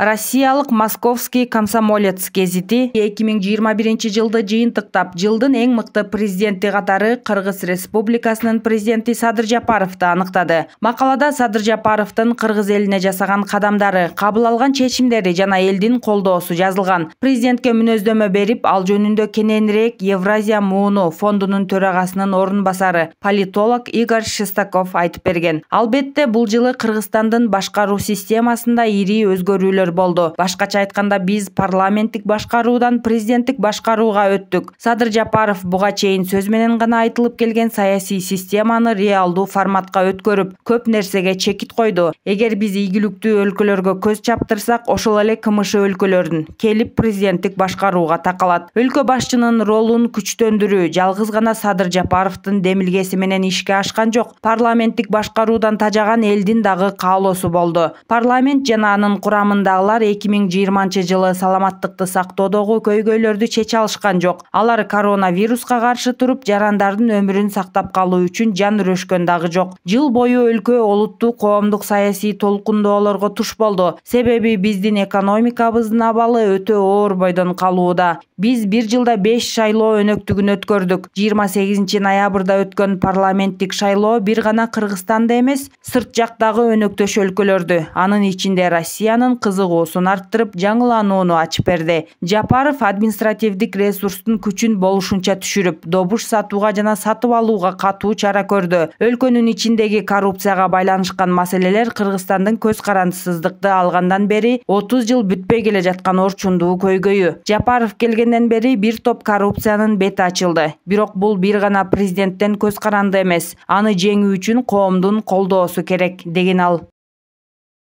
Россиялык Московский комсомолец гезити 2021-жылды жыйынтыктап, жылдын эң мыкты президенти катары Кыргыз Республикасынын президенти Садыр Жапаровду аныктады. Макалада Садыр Жапаровдун Кыргыз элине жасаган кадамдары, кабыл алган чечимдери жана элдин колдоосу жазылган. Президентке мүнөздөмө берип, ал жөнүндө кененирээк Евразия мууну фондунун төрагасынын орун басары политолог Игорь Шестаков айтып берген. Албетте, бул жылы Кыргызстандын башкаруу системасында ири өзгөрүүлөр болду. Башкача айтканда, биз парламенттик башкаруудан президенттик башкарууга өттүк. Садыр Жапаров буга чейин сөз менен гана айтылып келген саясий системаны реалдуу форматка өткөрүп, көп нерсеге чекит койду. Эгер биз ийгиликтүү өлкөлөргө көз чаптырсак, ошол эле КМШ өлкөлөрүн келип президенттик башкарууга такалат. Өлкө башчынын ролун күчтөндүрүү жалгыз гана Садыр Жапаровдун демилгеси менен ишке ашкан жок. Парламенттик башкаруудан тажаган элдин дагы каалоосу болду. Парламент жана анын курамындагылар 2020-жылы саламаттыкты сактоодогу көйгөйлөрдү чече алышкан жок. Алар коронавируска каршы туруп, жарандардын өмүрүн сактап калуу үчүн жан үрөшкөн дагы жок. Жыл бою өлкө олуттуу коомдук саясий толкундоолорго туш болду. Себеби биздин экономикабыздын абалы өтө оор бойдон калууда. Биз бир жылда 5 шайлоо өнөктүгүн өткөрдүк. 28-ноябрда өткөн парламенттик шайлоо бир гана Кыргызстанды эмес, сырт жактагы өнөктөш өлкөлөрдү, анын ичинде Россиянын кызыгуусун арттырып, жаңыланууну ачып берди. Жапаров административдик ресурстун күчүн болушунча түшүрүп, добуш сатууга жана сатып алууга катуу чара көрдү. Өлкөнүн ичиндеги коррупцияга байланышкан маселелер Кыргызстандын көз карандысыздыкты алгандан бери 30 жыл бүтпөй келе жаткан орчундуу көйгөйү. Жапаров келгенден бери бир топ коррупциянын бети ачылды. Бирок бул бир гана президенттен көз каранды эмес. Аны жеңүү үчүн коомдун колдоосу керек, деген ал.